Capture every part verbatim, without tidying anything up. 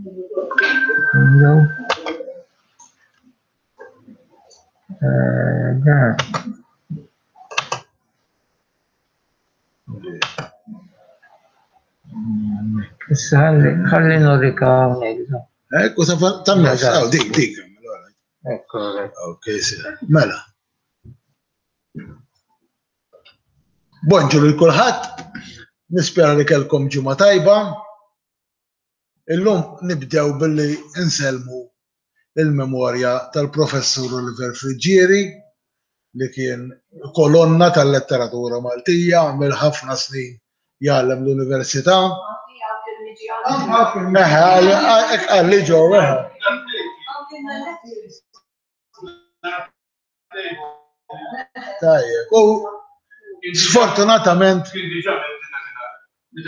No. Eh, dan. Issa ħalli ħalli nurika hawnhekk. Ekku, tan-nofs, aw, dik, dik. Ekku, Ok, mela. Bonġu lil kulħadd, nispera li kellkom ġimgħa tajba. Illum nibdew billi insellmu il-memorja tal-professur Oliver Friggieri li kien kolonna tal-letteratura Maltija, għamel ħafna snin jgħallem l-università. Eħe, għalli ġew, eħe. Tajjeb, u sfortunatament.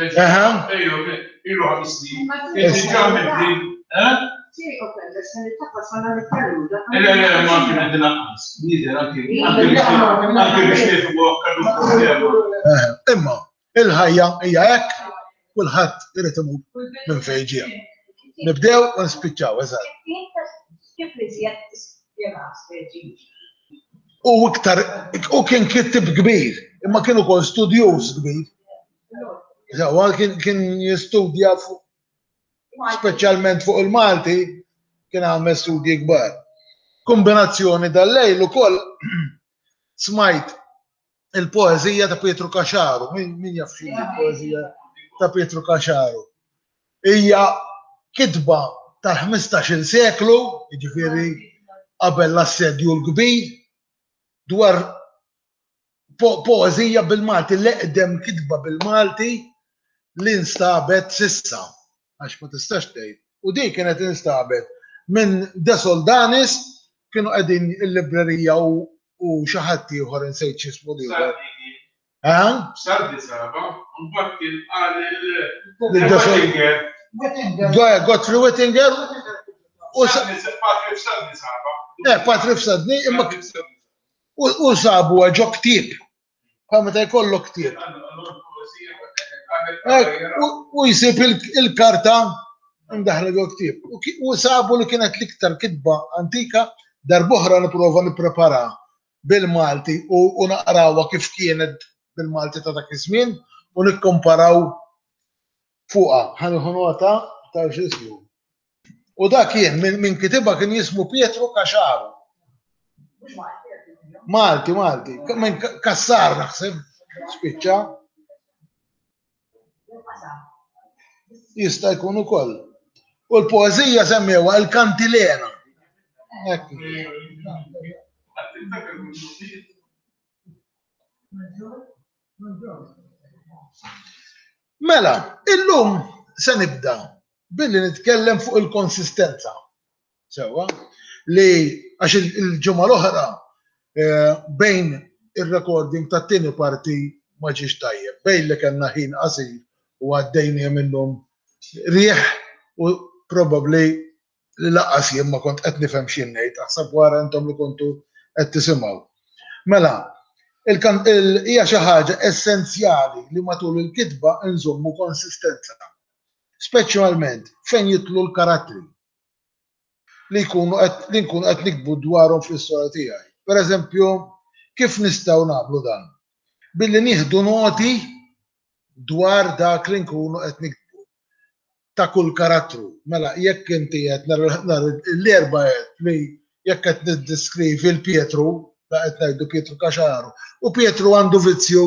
Eħe. Imma, il-ħajja hija hekk, kulħadd irid imur minn fejn ġie. Nibdew u nispiċċaw, eżatt. U iktar, u kien kittib kbir, imma kien ukoll studjuż kbir. Sewwa kien kien jistudja fuq speċjalment fuq il-Malti, kien għamel studji kbar. Kombinazzjoni dal-lejl ukoll smajt il-poeżija ta' Pietru Caxaru. Min, min jaf xi il-poeżija ta' Pietru Caxaru? Hija kitba tal-ħmistax-il seklu, jiġifieri qabel l-assedju l-kbir, dwar po poeżija bil-Malti, l-eqdem kitba bil-Malti li nstabet sissa, għax ma tistax tgħid. U di kienet instabet minn De Soldanis, kienu qegħdin il-librerija u u xi ħadd ieħor insejt x'ismu l-ieħor. Eh? Sardi saba, mbagħad kien qal il Godfrey Wittinger u Patrick Sadni saba. Eh, Patrick Sadni, imma u sabu ġo ktieb. Bħal meta jkollok ktieb. U jsib il-karta ndaħla ġo ktieb. U sabu li kienet l-iktar kitba antika, darb'oħra nipprova nipprepara bil-Malti u naqrawha kif kienet bil-Malti ta' dak iż-żmien u nikkomparaw fuqha. Ħa nieħu nota ta' x'ismu. U dak kien min kitibha kien jismu Pietru Caxaru. Malti, Malti. Minn Kassar naħseb, spiċċa. Jista' jkun ukoll. U l-poeżija semmewha il-Kantilena. Mela, illum se nibda billi nitkellem fuq il-konsistenza. Sewwa, li għax il-ġimgħa l-oħra bejn ir-recording tat-tieni parti ma ġiex tajjeb, bejn li kellna ħin qasir u għaddejnieh minnhom riħ u probabbli li lanqas jien ma kont qed nifhem x'jien ngħid, aħseb wara intom li kontu qed tisimgħu. Mela, hija xi ħaġa essenzjali li matul il-kitba nżommu konsistenza, speċjalment fejn jidħlu l-karattri li jkunu qed li nkunu qed niktbu dwarhom fl-istorja tiegħi. Per eżempju, kif nistgħu nagħmlu dan? Billi nieħdu noti dwar dak li nkunu qed niktbu ta' kull karattru. Mela, jekk inti qed nhar l-erba' qed li jekk qed niddeskrivi l-Pietru, da qed ngħidu Pietru Caxaru, u Pietru għandu vizzju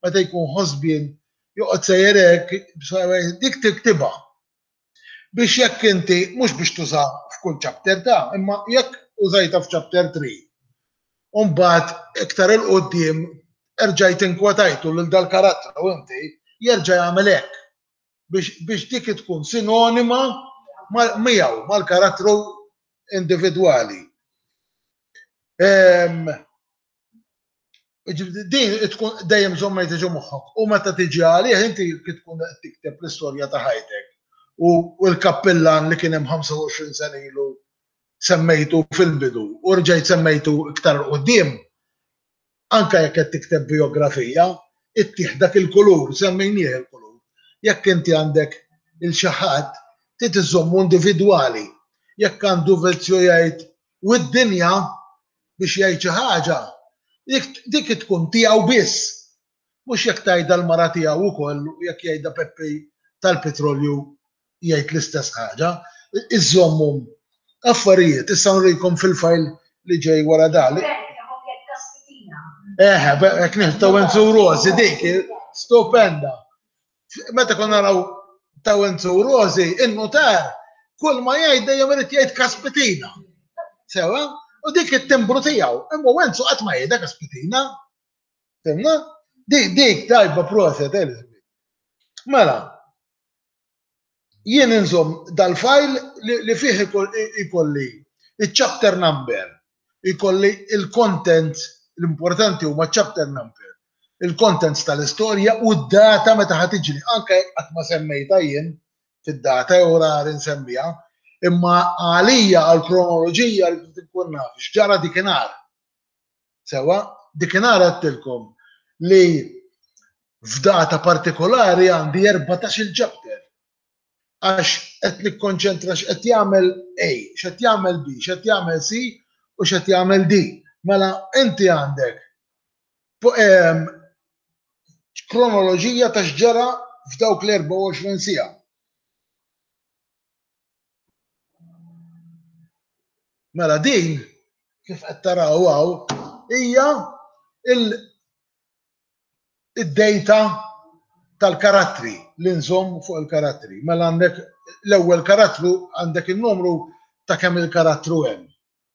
meta jkun ħosbien joqgħod sejjer hekk, dik tiktibha. Biex jekk inti, mhux biex tuża f'kull chapter ta', imma jekk użajta f'chapter three, u mbagħad iktar 'il quddiem erġajt inkwetajtu lil dal-karattru inti, jerġa' jagħmel hekk biex biex dik tkun sinonima miegħu, mal-karattru individwali. Din tkun dejjem żommejt ġo moħħok u meta tiġi għalih inti kif tkun qed tikteb l-istorja ta' ħajtek u l-kappillan li kien hemm ħamsa u għoxrin sena ilu semmejtu fil-bidu u rġajt semmejtu iktar quddiem, anke jekk qed tikteb biografija, ittih dak il-kulur, semmejnieh il-kulur. Jekk inti għandek il xi ħadd Trid iżżommu individwali. Jekk għandu vizzju jgħid u d-dinja biex jgħid xi ħaġa, dik tkun tiegħu biss. Mhux jekk tgħidha l-mara tiegħu wkoll u jekk jgħidha Peppi tal-petrolju jgħid l-istess ħaġa. Iżżommu affarijiet, issa nurikom fil-fajl li ġej wara dali. Eħe, hekk nieħdu Enzo Rosi dik, stupenda. Meta konna naraw ta' Enzo Rosi, in-notar, kull ma jgħid dejjem irid jgħid kaspitina. Sewa? U dik it-timbru tiegħu. Imma Enzo qatt ma jgħidha kaspitina. Fimna? Dik dik tajba proset, Elizabeth. Mela, jien inżomm dal-fajl li fih ikolli il-chapter number, ikolli il-content, l-importanti huma chapter number, il-contents tal-istorja u d-data meta ħa tiġri, anke qatt ma semmejta jien fid-data jew rari nsemmiha, imma għalija għal-kronoloġija li tkun naf x'ġara dikinhar. Sewa, dikinhar għedtilkom li f'data partikolari għandi erbatax-il chapter. Għax qed nikkonċentra x'qed jagħmel A, x'qed jagħmel B, x'qed jagħmel C u x'qed jagħmel D. Mela inti għandek kronoloġija ta' x'ġara f'dawk l-erbgħa u għoxrin siegħa. Mela din, kif qed taraw hawn, hija id-data tal-karattri li nżomm fuq il-karattri. Mela għandek l-ewwel karattru, għandek in-numru ta' kemm il-karattru hemm.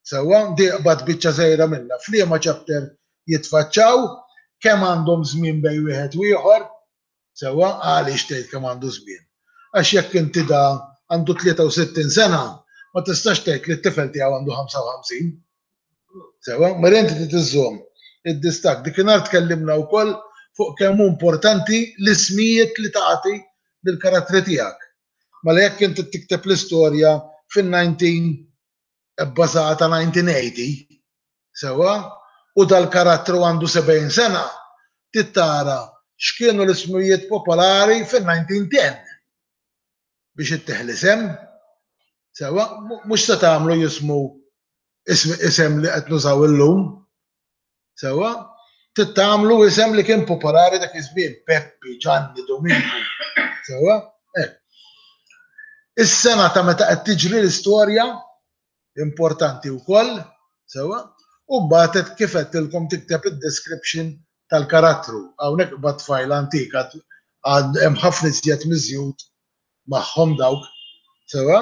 Sewwa, di qbad biċċa żgħira minnha. F'liema chapter jitfaċċaw, kemm għandhom żmien bejn wieħed u ieħor, sewwa, għaliex tgħid kemm għandu żmien. Għax jekk inti da għandu tlieta u sittin sena, ma tistax tgħid li t-tifel tiegħu għandu ħamsa u ħamsin. Sewwa, mela inti trid iżżomm id-distakk. Dikinhar tkellimna wkoll fuq kemm hu importanti l-ismijiet li tagħti lill-karattri tiegħek. Mela jekk inti tikteb l-istorja fin-nineteen bbażata nineteen eighty, sewwa, u dal-karattru għandu sebgħin sena, trid tara x'kienu l-ismijiet popolari fin-nineteen ten biex ittieħ l-isem. Sewwa, mhux se tagħmlu jismu isem li qed nużaw illum. Sewwa, trid tagħmlu isem li kien popolari dak iż-żmien, Peppi, Ġanni, Dominku. Sewwa, hekk. Is-sena ta' meta qed tiġri l-istorja importanti wkoll, sewwa, u mbagħad kif qedtilkom tikteb id-description tal-karattru. Hawnhekk bad fajl antik għad hemm ħafna iżjed miżjud magħhom dawk. Sewwa?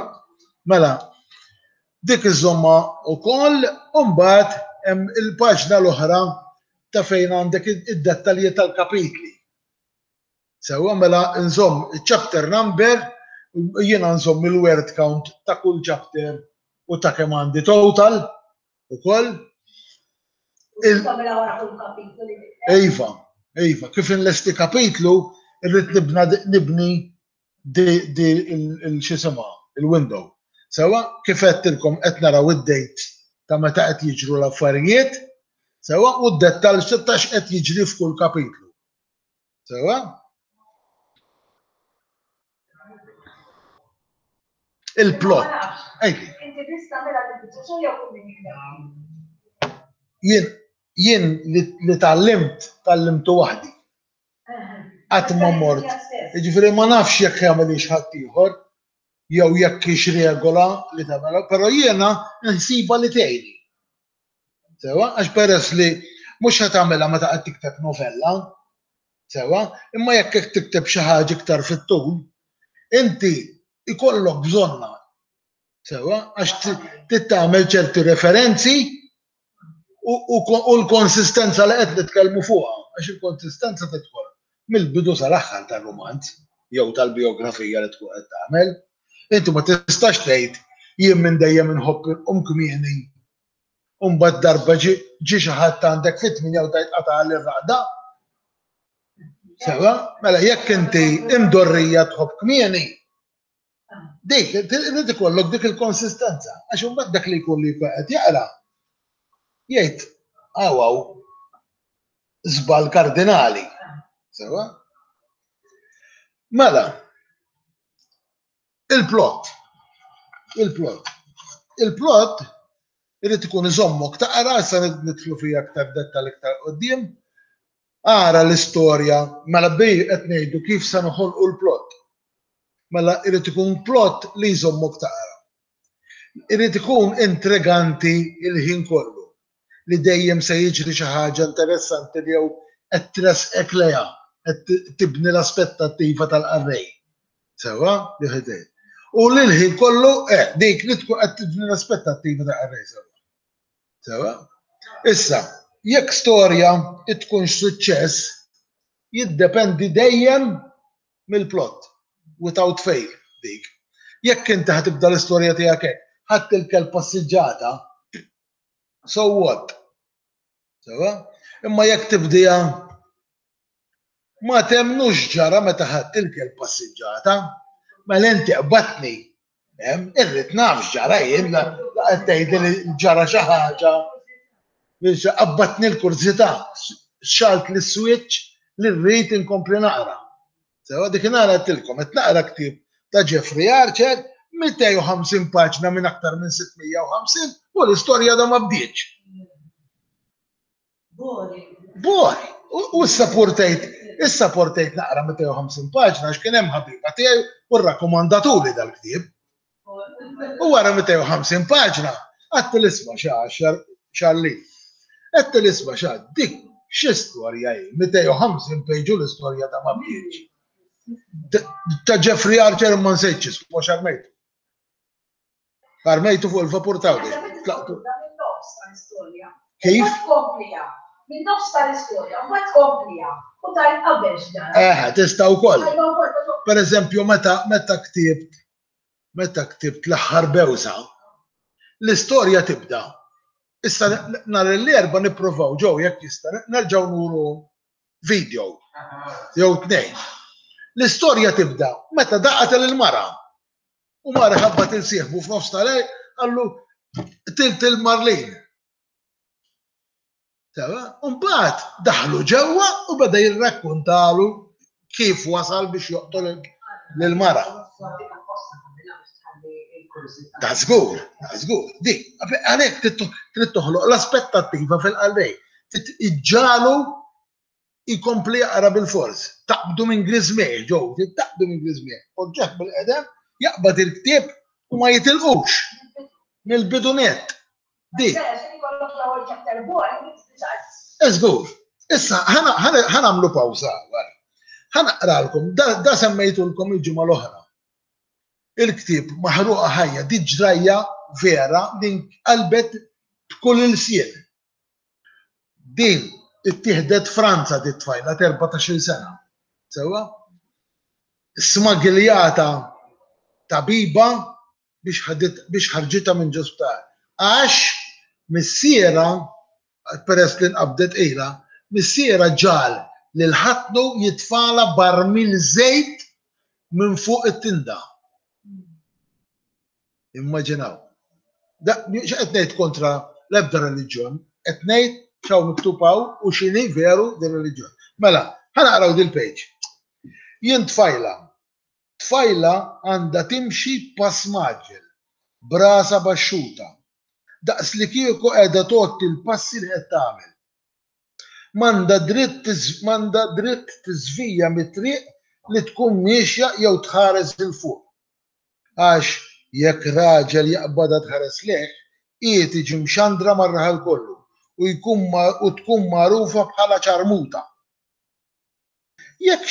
Mela, dik iżomma wkoll, u mbagħad hemm il-paġna l-oħra ta' fejn għandek id-dettalji tal-kapitli. Sewwa, mela nżomm il-chapter number, jiena nżomm il-word count ta' kull chapter u ta' kemm għandi total ukoll. Il- Iva, iva, kif inlesti kapitlu, irrid nibna nibni di, di il-xisimha, il-window. Sewwa, kif għedtilkom qed naraw id-date ta' meta qed jiġru l-affarijiet, sewwa, u d-dettall ta' x'qed jiġri f'kull kapitlu. Sewwa? Il-plot. Ejdi. Inti tista' tagħmilha bil-biċċa xogħol jew kull min jikteb? Jien, jien li, li tgħallimt, tgħallimtu waħdi. Qatt ma mort. Jiġifieri ma nafx jekk jagħmilix ħadd ieħor jew jekk hix regola li tagħmilha, però jiena nsiba li tgħinni. Sewwa, għax peress li mhux ħa tagħmilha meta qed tikteb novella, sewwa, imma jekk qed tikteb xi ħaġa iktar fit-tul, inti ikollok bżonna. Sewwa, għax trid tagħmel ċerti referenzi u, u, u l-konsistenza li qed nitkellmu fuqha, għax il-konsistenza tidħol mill-bidu sal-aħħar tar-rumanz jew tal-biografija li tkun qed tagħmel. Inti ma tistax tgħid jien minn dejjem inħobb inqum kmieni u mbagħad darba ġi, ġi xi ħadd għandek fit-tmienja u tgħid qata' għall-irraqda. Sewwa, mela jekk inti imdorrija tħobb kmieni, dik irid ikollok dik il-konsistenza, għax imbagħad dak li jkun li jkun qed jaqra jgħid hawn hawn żball kardinali. Sewwa? Mela, Il-plot. Il-plot. Il-plot irid ikun iżommok taqra, issa nidħlu fiha aktar dettal iktar quddiem. Ara l-istorja, mela bi qed ngħidu kif se noħolqu l-plot. Mela irid ikun plot li jżommok taqra. Irid ikun intriganti il-ħin kollu, li dejjem se jiġri xi ħaġa interessanti li jew qed tresqek lejha, qed tibni l-aspettattiva tal-qarrej. Sewa, li ħidejn. U li l-ħin kollu, eh, dik li tkun qed tibni l-aspettattiva tal-qarrej sewa. Sewa? Issa, jekk storja tkunx suċċess, jiddependi dejjem mill-plot, without fail, dik. Jekk inti ħa tibda l-istorja tiegħek hekk, ħadt il-kelb passiġġata, so what? Sewa? Imma jekk tibdija ma temnux ġara meta ħadt il-kelb passiġġata, mela inti qbatni. Irrid naf x'ġara jien, la qed tgħidli li ġara xi ħaġa, qabbatni l-kurżità, xalt l-switch li rrid inkompli naqra. Sewa dik nara għedtilkom, qed naqra ktieb ta' Jeffrey Archer, mitejn u ħamsin paġna minn aktar minn sitt mija u ħamsin, u l-istorja da ma bdietx. Boring. Boring. U issa portejt, issa portejt naqra mitejn u ħamsin paġna għax kien hemm ħabiba tiegħi u rrakkomandatuli dal-ktieb. U wara mitejn u ħamsin paġna, għedt l-isma' xa xalli. Għedt l-isma' xa dik xi storja hi, mitejn u ħamsin pejġu l-istorja ta' ma bdietx. Ta' Jeffrey Archer ma nsejtx ismu għax armejtu. Armejtu fuq il-vapur ta' Għawdex. Tlaqtu. Kif? Minn nofs tal-istorja, u mbagħad tkompliha u tajt qabel x'ġara. Eħe, tista' wkoll. Per eżempju, meta, meta ktibt, meta ktibt l-aħħar bewsa, l-istorja tibda. Issa nhar l-Erbgħa nippruvaw ġew jekk jista' nerġgħu nuru video jew tnejn. L-istorja tibda meta daqat il-mara. U mara ħabba tilsieħbu f'nofs tal-lejl qallu tilt il-Marlin. Sewa, mbagħad daħlu ġewwa u beda jirrakkontalu kif wasal biex joqtol lil-mara. Ta' żgur, ta' żgur. Dik, għalhekk trid toħloq l-aspettattiva fil-qalbej. Iġġalu jkompli jaqra bil-fors. Taqbdu minn griżmej, ġew, taqbdu minn griżmej. Poġġeħ bil-qedem, jaqbad il-ktieb u ma jitilqux mill-bidu nett. Dik. Żgur. Issa, ħa nagħmlu pawża. Ħa naqralkom, da semmejtulkom il-ġimgħa l-oħra. Il-ktieb Maħruqa Ħajja, di ġrajja vera din qalbet b'kull ilsien. Din ittieħdet Franza di tfajla t'erbatax-il sena. Sewa? Smagiljata tabiba biex ħarġitha minn ġo sptar. Għax missiera, peress li nqabdet ilha, missiera ġal lil ħatnu jitfala barmil żejt minn fuq it-tinda. Immaġinaw. X'qed ngħid kontra l-ebda reliġjon, qed ngħid x'hawn miktub hawn u x'inhi veru din reliġjon. Mela, ħa naqraw dil-page. Jien tfajla. Tfajla għandha timxi pass maġġel, brasa baxxuta. Daqs li kieku qiegħda tgħotti l-passi li qed tagħmel. M'għandha dritt m'għandha dritt tiżvija mit-triq li tkun miexja jew tħares il fuq. Għax jekk raġel jaqbadha tħares leh, hi tiġi mxandra mar-raħal kollu u jkun u tkun magħrufa bħala ċarmuta. Jekk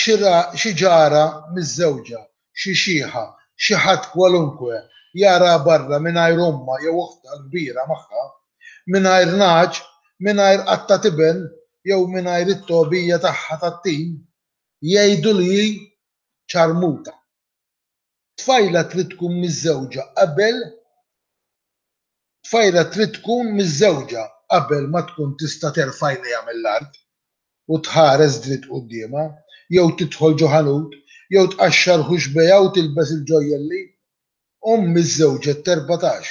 xi ġara miż-żewġa, xi xieħa, xi ħadd kwalunkwe jara barra mingħajr ommha jew oħtha l-kbira magħha, mingħajr nagħaġ, mingħajr qatta tiben jew mingħajr it-togħbija tagħha tat-tin, jgħidu li hi ċarmuta. Tfajla trid tkun miżżewġa qabel tfajla trid tkun miżżewġa qabel ma tkun tista' terfa' għajnejha mill-art u tħares dritt quddiemha, jew tidħol ġo ħanut, jew tqaxxar ħuxbejha u tilbes il-ġojjelli. Omm iżżewġet t'erbatax.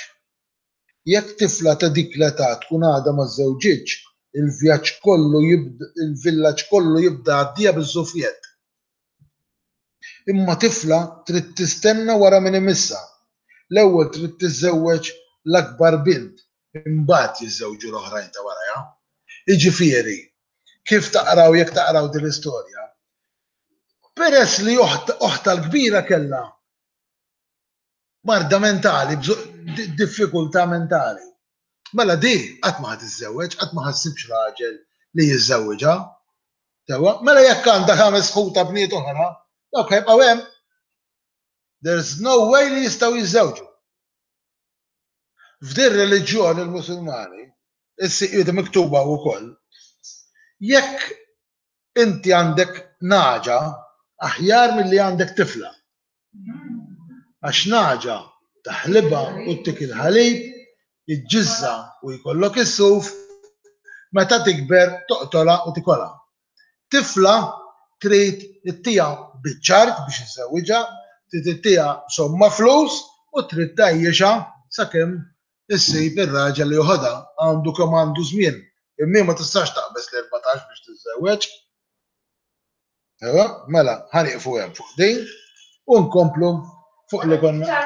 Jekk tifla ta' dik l-età tkun għadha ma żżewġitx, il-vjaġġ kollu il-villaġġ kollu jibda għaddija biż-żufjett. Imma tifla trid tistenna wara min imissha. L-ewwel trid tiżżewweġ l-akbar bint, imbagħad jiżżewġu l-oħrajn ta' warajha. Jiġifieri, kif taqraw jekk taqraw din l-istorja, peress li oħtha l-kbira kellha marda mentali, diffikultà mentali. Mela di qatt ma ħa tiżżewweġ, qatt ma ħa ssibx raġel li jiżżewwiġha. Sewwa, mela jekk għandha ħames ħuta bniet oħra, dawk ħajbqgħu hemm. There's no way li jistgħu jiżżewġu. F'din reliġjon il-Musulmani, is-siqiet miktuba wkoll, jekk inti għandek naġa aħjar milli għandek tifla. Għax naġa taħlibha u ttik il-ħalib, iġġiżża u jkollok is-suf, meta tikber toqtolha u tikolha. Tifla trid ittiha biċ-ċart biex iżżewwiġha, trid ittiha somma flus u trid tgħajjixha sakemm issib ir-raġel li joħodha, għandu kemm għandu żmien. Imma ma tistax taqbeż l-erbatax biex tiżżewweġ. Ewa, mela, ħa nieqfu hemm fuq din u nkomplu fuq li konna.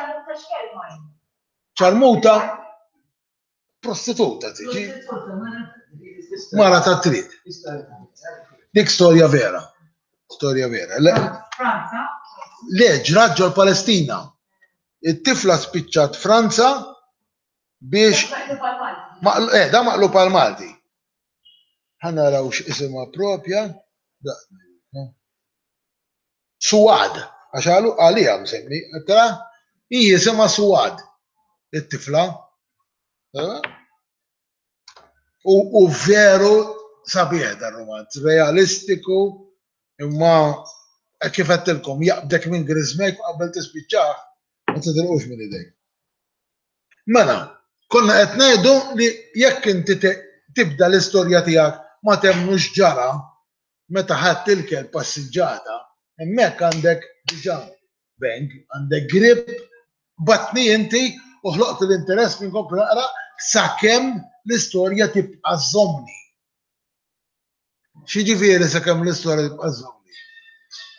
Ċarmuta prostituta tiġi. Mara ta' triq. Dik storja vera. Storja vera. Le, le ġrat ġol Palestina. It-tifla spiċċat Franza biex. Eh, da maqlub għal Malti. Ħa naraw x'isimha propja. Suwad, għax għalu għalija msemmi, tra hi jisimha Suwad, it-tifla. U, u veru sabiħ dar romanz, realistiku, imma kif għedtilkom, jaqbdek minn griżmejk u qabel tispiċċah, ma titilqux minn idejk. Mela, konna qed ngħidu li jekk inti tibda l-istorja tiegħek ma temmnux ġara meta ħadt il-kelb passiġġata, hemmhekk għandek diġà bang, għandek grip, batni inti u ħloqt l-interess minn kompli naqra sakemm l-istorja tibqa' żommni. X'jiġifieri sakemm l-istorja tibqa' żommni?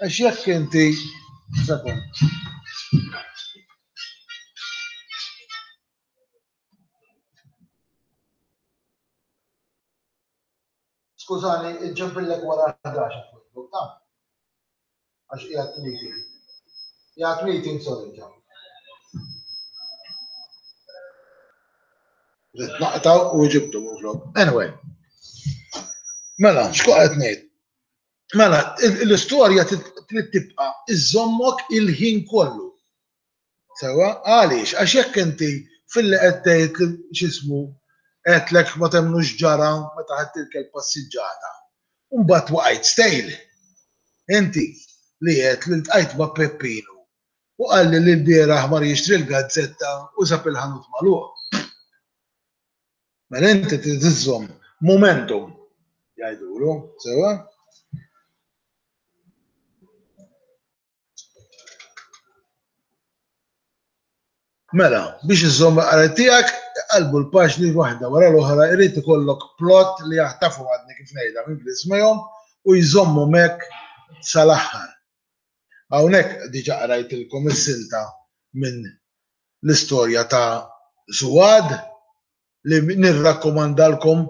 Għax jekk inti sakemm Skużani, iġġempillek wara ħdax il-Facebook, ta' għax qiegħed meeting. Qiegħed meeting, sorry, ġa. Rrid naqtaw u ġibtu minflok. Anyway. Mela, x'kont qed ngħid? Mela, l-istorja trid tibqa' iżommok il-ħin kollu. Sewwa, għaliex? Għax jekk inti filli qed tgħid li x'ismu għedtlek ma temmnux ġara meta ħadt il-kelb passiġġata. U mbagħad waqajt stejl. Inti li għedt li ltqajt ma' Peppinu u qalli li lbieraħ mar jixtri l-gazzetta u sab il-ħanut magħluq. Mela inti trid iżżomm momentum jgħidulu, sewwa? Mela, biex iżżomm il-qarrej tiegħek, iqallbu l-paġni waħda wara l-oħra, irid ikollok plot li jaħtafhom għadni kif ngħidha minn griżmejhom u jżommhom hekk sal-aħħar. Hawnhekk diġà qrajtilkom is-silta minn l-istorja ta' Suwad li nirrakkomandalkom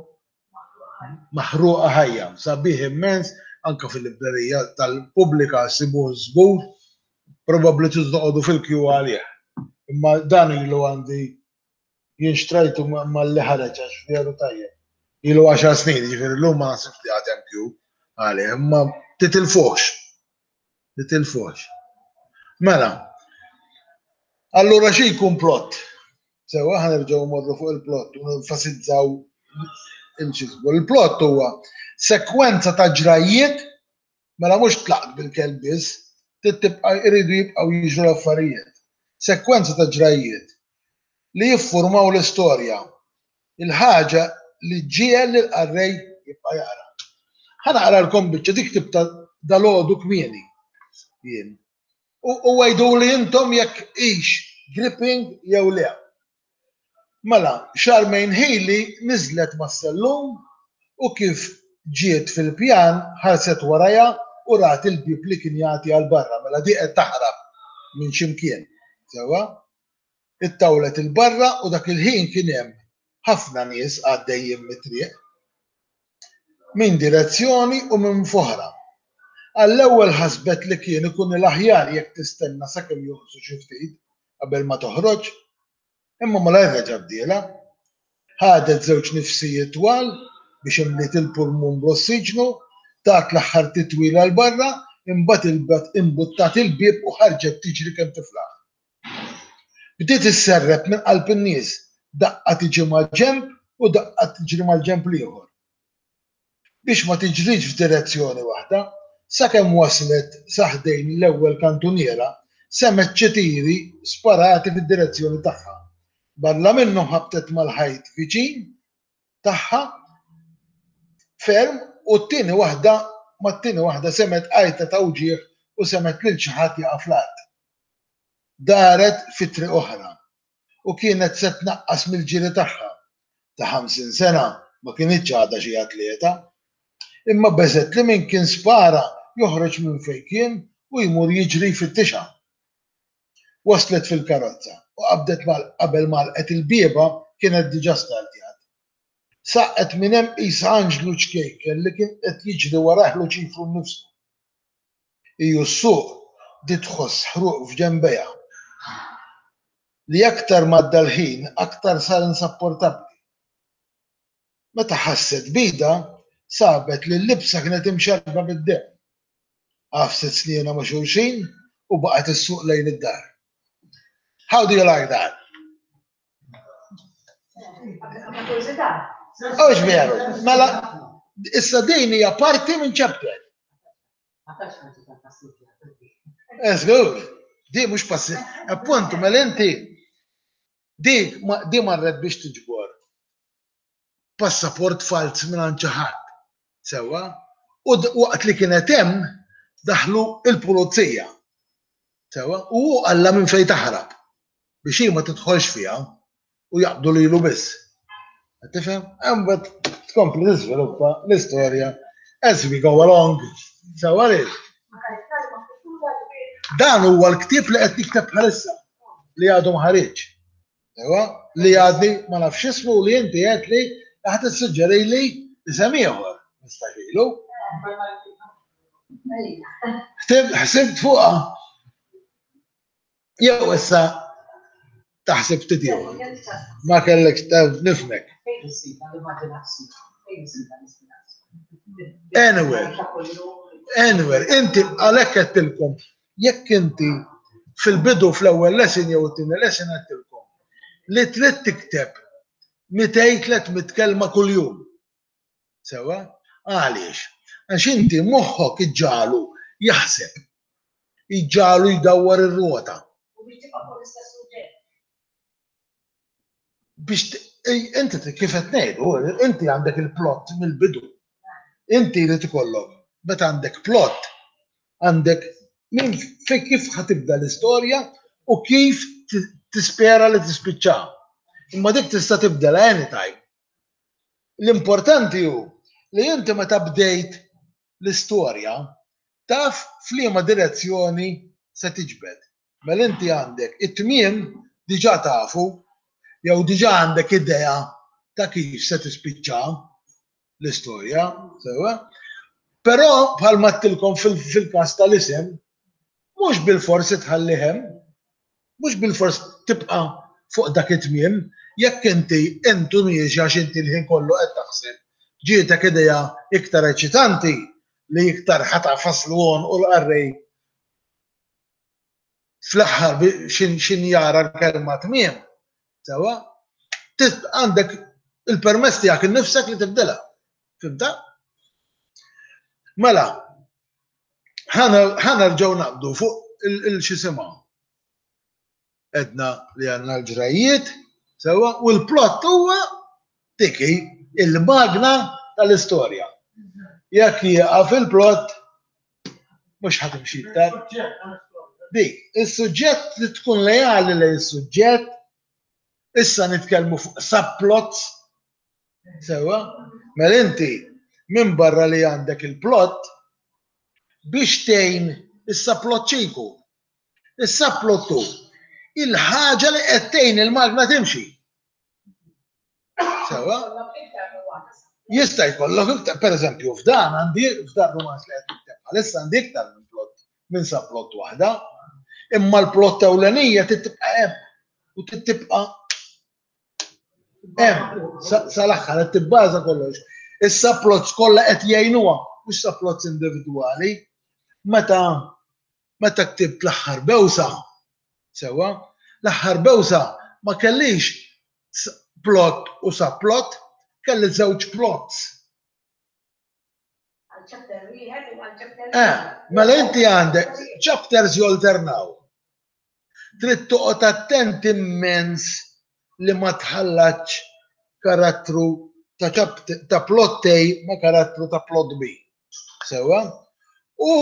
Maħruqa Ħajja. Sabiħ immens, anke fil-librerija tal-pubblika ssibuh żgur, probabbli tridu toqogħdu fil-kju għalih. Imma dan ilu għandi jien xtrajtu malli ħareġ għax veru tajjeb. Ilu għaxar snin, jiġifieri llum ma naħsibx li għad hemm kju għalih, imma titilfuhx. Titilfuhx. Mela, allura xi jkun plot? Sewwa, ħa nerġgħu mmorru fuq il-plot u nenfasizzaw il-xisbu. Il-plot huwa sekwenza ta' ġrajjiet, mela mhux tlaqt bil-kelb biss, trid tibqa' iridu jibqgħu jiġru l-affarijiet. Sekwenza ta' ġrajjiet li jiffurmaw l-istorja, il-ħaġa li ġġiegħel lill-qarrej jibqa' jaqra. Ħa naqralkom biċċa dik ktibtha dalgħodu kmieni jien. U għiduli intom jekk hix gripping jew le. Mela, Charmaine Healy niżlet mas-sellum u kif ġiet fil-pjan ħarset warajha u rat il-bieb li kien jagħti għal barra, mela di qed taħrab minn x'imkien. Sewwa? Ittawlet 'il barra u dak il-ħin kien hemm ħafna nies għaddejjin mit-triq. Minn direzzjoni u minn f'oħra. Għall-ewwel ħasbet li kien ikun l-aħjar jekk tistenna sakemm jonqsu xi ftit qabel ma toħroġ, imma malajr reġa' bdielha. Ħadet żewġ nifsijiet twal biex imliet il-pulmun bl-ossiġnu, tat l-aħħar titwila 'l barra, imbagħad imbuttat il-bieb u ħarġet tiġri kemm tiflaħ. Bdiet isserrep minn qalb in-nies, daqqa tiġi mal-ġenb u daqqa tiġri mal-ġenb l-ieħor. Biex ma tiġrix f'direzzjoni waħda, sakemm waslet sa ħdejn l-ewwel kantuniera, semgħet xi tiri sparati fid-direzzjoni tagħha. Barra minnhom ħabtet mal-ħajt viċin tagħha ferm u t-tieni waħda mat-tieni waħda semgħet għajta ta' uġigħ u semgħet lil xi ħadd jaqa' fl-art. Daret fi triq oħra u kienet se tnaqqas mill-ġiri tagħha. Ta' ħamsin sena ma kinitx għadha xi atleta. Imma beżgħet li min kien spara joħroġ minn fejn kien u jmur jiġri jfittixha. Waslet fil-karozza u qabdet qabel m'għalqet il-bieba kienet diġà startjat. Saqqet minn hemm qisha anġlu ċkejken li kien qed jiġri warajh Luċifru nnifsu. Hi u ssuq bdiet tħoss ħruq f'ġenbejha li aktar m'għadda l-ħin aktar sar insapportabbli. Meta ħasset b'idha, sabet li l-libsa kienet imxarrba bid-demm. Għafset snienha ma' xulxin u baqgħet issuq lejn id-dar. How do you like that? Hux veru? Mela, issa din hija parti minn chapter. Żgur, di mhux passi. Appuntu, mela inti di di marret biex tiġbor passaport falz minn xi ħadd. Sewwa? U waqt li kienet hemm daħlu il-pulizija. Sewwa? U hu qallha minn fejn taħrab biex hi ma tidħolx fiha u jaqbdu lilu biss. Qed tifhem? Imbagħad tkompli tiżviluppa l-istorja as we go along. Sewwa li? Dan huwa l-ktieb li qed nikteb bħalissa li għadu ma ħariġ. Sewwa? Li għadni ma nafx ismu li inti qed li ħa tissuġġerili isem ieħor. Nistaxilu. Ħsibt fuqha. Jew issa taħseb ftit ieħor. Ma kellekx nifhmek. Anywhere. Anywhere. Inti għalhekk għedtilkom, jekk inti fil-bidu fl-ewwel lesson jew it-tieni lesson għedtilkom li trid tikteb mitejn tliet mitt kelma kuljum. Sewwa? Għaliex? Għax inti moħħok iġġagħlu jaħseb. Iġġagħlu jdawwar ir-rota. U biex tibqa' fuq l-istess suġġett. Biex inti kif qed ngħidu, inti għandek il-plot mill-bidu. Inti jrid ikollok, meta għandek plot, għandek minn fi kif ħa tibda l-istorja u kif tispera li tispiċċa. Imma dik tista' tibdel anytime. L-importanti hu li inti meta bdejt l-istorja taf f'liema direzzjoni se tiġbed. Mela inti għandek it-tmiem diġà tafu jew diġà għandek idea ta' kif se tispiċċa l-istorja, sewwa? Però bħalma għedtilkom fil-każ tal-isem, mhux bilfors tħallih hemm, mhux bilfors tibqa' fuq dak it-tmiem, jekk inti intu miexi għax inti l-ħin kollu qed taħseb, ġietek idea iktar eċitanti li iktar ħa tagħfas l-għonq u l-qarrej fl-aħħar xin jara l-kelma tmiem, sewwa? Għandek il-permess tiegħek innifsek li tibdilha. Fimta? Mela, ħa nerġgħu naqbdu fuq il-xisimha. Edna li għandna l-ġrajiet, sewwa, u l-plot huwa tiki il-magna tal-istorja. Jekk jieqaf il-plot, mhux ħa timxi iktar. Dik, is-suġġett li tkun leali lejn is-suġġett, issa nitkellmu fuq subplots, sewwa, mela inti minn barra li għandek il-plot, Biex tgħin is-subplot xi jkun? Is-subplot hu il-ħaġa li qed tgħin il-magna timxi. Sewa? Jista' jkollok iktar, pereżempju, f'dan għandi f'dan rumanz li qed nikteb bħalissa għandi iktar minn plot minn subplot waħda, imma l-plot ewlenija tibqa' hemm u tibqa' hemm sal-aħħar qed tibbaża kollox. Is-subplots kollha qed jgħinuha, mhux subplots individwali. Meta meta ktibt l-aħħar bewsa, sewwa, l-aħħar bewsa ma kellix plot u subplot, kelli żewġ plots. Eh, mela inti għandek chapters jolternaw. Trid toqgħod attent immens li ma tħallatx karattru ta' ta' plot A ma' karattru ta' plot B. Sewa? U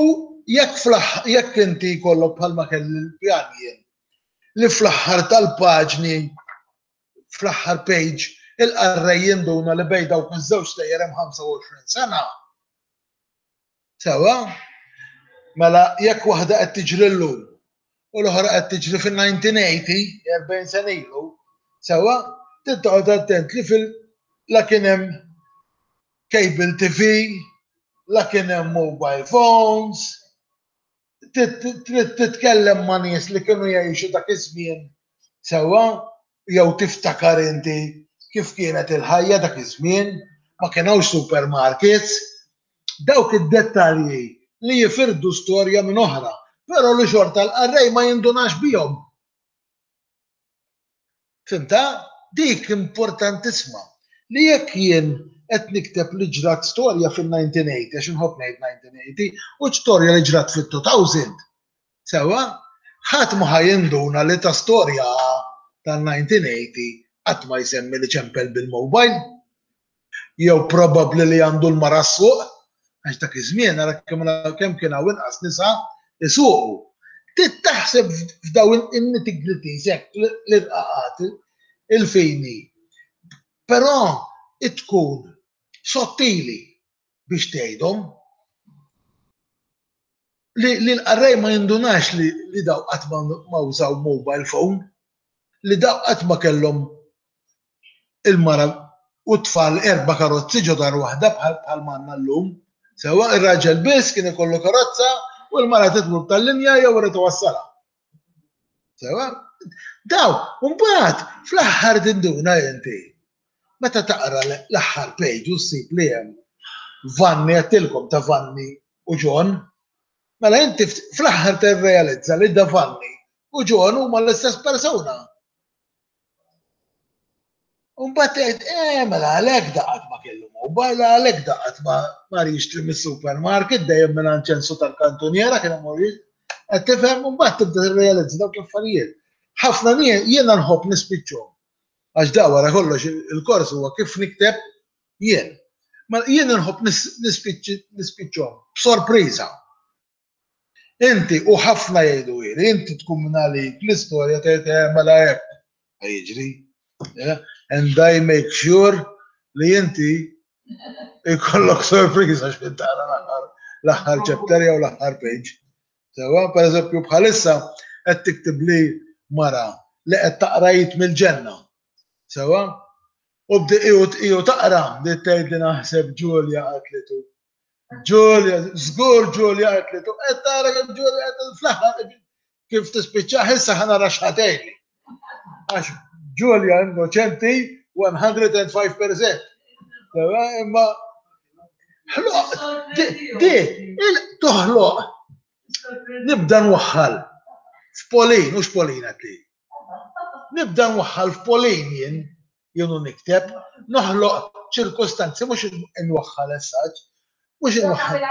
jekk jekk inti jkollok bħalma kelli l-pjan jien li fl-aħħar tal-paġni fl-aħħar page il-qarrej jinduna li bejn dawk iż-żewġ stejjer hemm ħamsa u għoxrin sena. Sewa? Mela jekk waħda qed tiġri llum u l-oħra qed tiġri fin-nineteen eighty, erbgħin sena ilu, sewa, trid toqgħod attent li fil la kien hemm cable T V, la kien hemm mobile phones, trid titkellem ma' nies li kienu jgħixu dak iż-żmien sewwa, jew tiftakar inti kif kienet il-ħajja dak iż-żmien, ma kien hawnx supermarkets, dawk id-dettalji li jifirdu storja minn oħra, però li xorta l-qarrej ma jindunax bihom. Fimta? Dik importantisma. Li jekk jien qed nikteb li ġrat storja fin-nineteen eighty, għax inħobb ngħid nineteen eighty, u storja li ġrat fit-two thousand, sewwa, ħadd ma ħajinduna li ta' storja tan-nineteen eighty qatt ma jsemmi li ċempel bil-mobile, jew probabbli li għandu l-mara s-suq, għax dak iż-żmien ara kemm kien hawn inqas nisa isuqu. Trid taħseb f'dawn in-nitty-gritties hekk l-irqaqat, il-fini. Però tkun sottili biex tgħidhom li l-qarrej ma jindunax li daw qatt ma użaw mobile phone, li daw qatt ma kellhom il-mara u t-tfal erba' karozzi ġo dar waħda bħal m'għandna llum. Sewwa ir-raġel biss kien ikollu karozza u l-mara titmur tal-linja jew irid iwassalha. Sewwa? Daw, mbagħad fl-aħħar tinduna inti. Meta taqra l-aħħar page u ssib li hemm Vanni, għedtilkom ta' Vanni u John, mela inti fl-aħħar tirrealizza li da Vanni u John huma l-istess persuna. U mbagħad tgħid, eh, mela għalhekk daqat ma kellu mobile, għalhekk daqat ma mar jixtri mis-supermarket dejjem minn għand ċensu tal-kantuniera kien imur qed tifhem, u mbagħad tibda tirrealizza dawk l-affarijiet. Ħafna nies jiena nħobb nispiċċhom. Għax da wara kollox il-kors huwa kif nikteb jien. Ma jien nħobb nispiċċhom b'sorpriża. Inti u ħafna jgħidu ili, inti tkun minn għalik l-istorja tgħid, eh, mela hekk jiġri. Yeah? And I make sure li inti ikollok sorpriża x'kien tara l-aħħar chapter jew l-aħħar page. Sewa, per eżempju, bħalissa qed tiktib li mara li qed taqra jit mill-ġenna. Sewa? U bdi iju taqra li tgħid li naħseb Ġulja qatlitu. Ġulja, żgur Ġulja qatlitu, qed tara kemm Ġulja qed fl-aħħar kif tispiċċa issa ħa nara x'ħatejli. Għax Ġulja innoċenti one hundred and five percent. Sewa, imma ħloq, di, di, il toħloq. Nibda nwaħħal f'Polin, mhux Polin għatli. Nibda nwaħħal f'Polin jien, jien u nikteb, noħloq ċirkostanzi, mhux nwaħħal essaġ, mhux inwaħħal.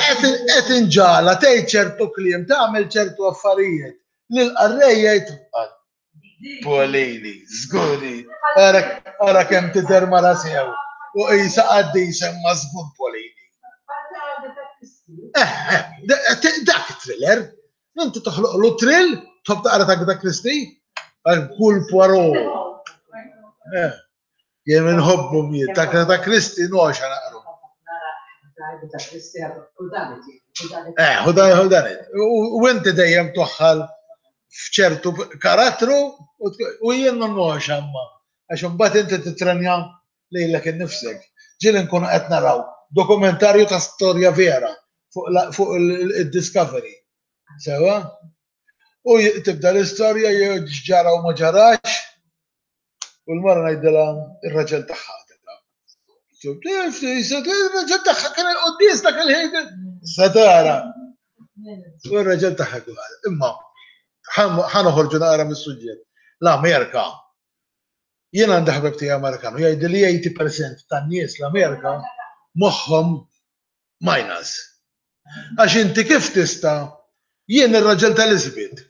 Qed inġala tgħid ċertu kliem, tagħmel ċertu affarijiet li l-qarrej jgħid Polini, żguri, ara kemm tidher mara sew u qisha qaddisa imma żgur Polini. Eh, eh, dak thriller, inti toħloqlu thrill, tħobb taqra ta' Agatha Christie, għal kull Poirot. Eh, jien inħobbu miet, ta' Agatha Christie noxa naqru. Eh, hu dan hu dan. U inti dejjem toħħal f'ċertu karattru u jien non amma. Għax imbagħad inti titrenja lilek innifsek. Ġieli nkunu qed naraw dokumentarju ta' storja vera fuq il-Discovery. Sewa? U tibda l-istorja ġara u ma ġarax u l-mara ngħidilha ir-raġel tagħha. Ir-raġel tagħha kien il-quddies dak il-ħin. Satara. U r-raġel tagħha imma ħa noħorġu naqra mis-suġġett. L-Amerika. Jien għandi ħabib tiegħi Amerikan u jgħidli li tmenin fil-mija tan-nies l-Amerika moħħhom minus. Għax inti kif tista' jien ir-raġel tal-Elizabeth.